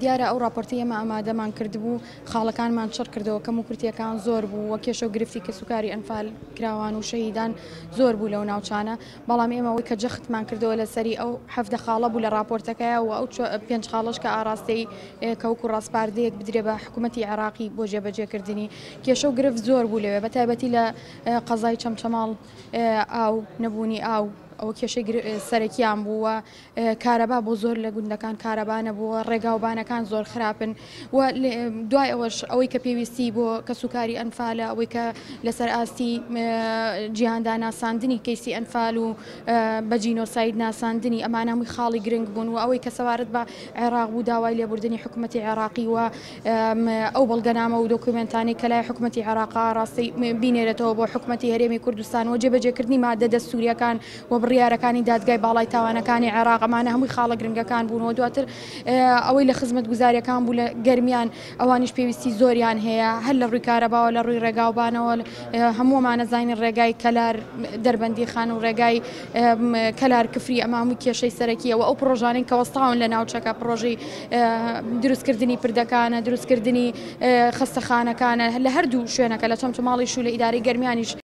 دیارە ئەو ڕاپۆرتەی ئێمە ئامادەمان کردبوو خاڵەکانمان چڕ کردەوە، کەموکورتییەکان زۆر بوو و کێشە و گرفتی کەسوکاری ئەنفال کراوان و شەهیدان زۆر بوو لەو ناوچانە، بەڵام ئێمە ئەوەی کە جەختمان کردەوە لەسەری ئەو 17 خاڵە بوو لە ڕاپۆرتەکەیا و ئەو پێنج خاڵەش کە ئاراستەی کە وەکو ڕاسپاردەیەک بدرێ بە حکوومەتی عێراقی بۆ جێبەجێکردنی. کێشە و گرفت زۆر بوو لەوێ بە تایبەتی لە قەزای چەمچەماڵ ئاو، نەبوونی ئاو ئەوە کێشەی سەرەکیان بوو و کارەبا بۆ زۆر لە گوندەکان کارەبا نەبووە، ڕێگاوبانەکان زۆر خراپن و دوای ئەوەش ئەوەی کە پێویستی بۆ کەسوکاری ئەنفالە، ئەوەی کە لەسەر ئاستی جیهاندا ناساندنی کەیسی ئەنفال و بە جینۆساید ناساندنی، ئەمانە هەمووی خاڵی گرنگ بوون و ئەوەی کە سەبارەت بە عێراق بوو داوای لێبوردنی حکوومەتی عێراقی و ئەو بەڵگەنامە و دۆکیومێنتانەی کە لای حکوومەتی عێراق ڕاستی بینێرێتەوە بۆ حکوومەتی هەرێمی کوردستان و جێبەجێکردنی مادە دەستوورییەکان و بڕیارەکانی دادگای باڵای تاوانەکانی عێراق، ئەمانە هەمووی خاڵە گرنگەکان بوون و دواتر ئەوەی لە خزمەتگوزارییەکان بوو لە گەرمیان ئەوانیش پێویستی زۆریان هەیە هەر لە ڕووی کارەباوە لە ڕووی ڕێگاوبانەوە هەموومانە زانین ڕێگای کەلار دەربەندیخان و ڕێگای کەلار کفری ئەمە هەمووی کێشەی سەرەکیە و ئەو پڕۆژانەی کە وەستاون لە ناوچەکە پڕۆژەی دروستکردنی پردەکانە دروستکردنی خەستەخانەکانە لە هەردوو شوێنەکە لە چەمچەماڵیش و لە ئیدارەی گەرمیانیش.